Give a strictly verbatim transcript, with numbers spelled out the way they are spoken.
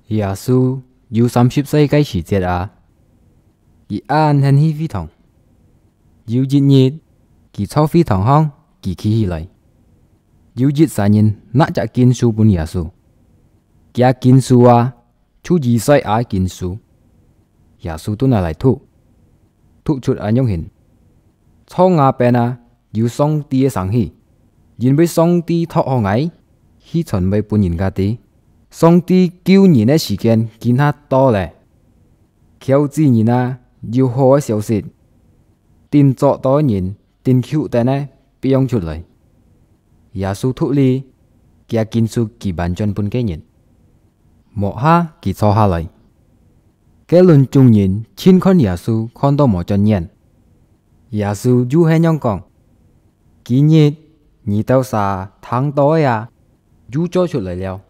耶穌有三十歲个時節啊，佢恁興去會堂。有一日，佢在會堂項，佢企起來，有一儕人拿隻經書分耶穌。厥經書啊，就以賽亞經書。耶穌就拿來讀，讀出恁樣形：在吾邊啊，有上帝个聲氣，因為上帝託好𠊎，去傳話分人家知，上帝救人个時間今下到咧。 求子人啊，有好个消息，定做到个人，定求等个必用出來。耶穌讀了，厥經書佢還轉分該人。無下佢坐下來。該輪眾人盡看耶穌看到無轉眼。耶穌又係恁樣講：今日你兜儕聽到个啊，又做出來了。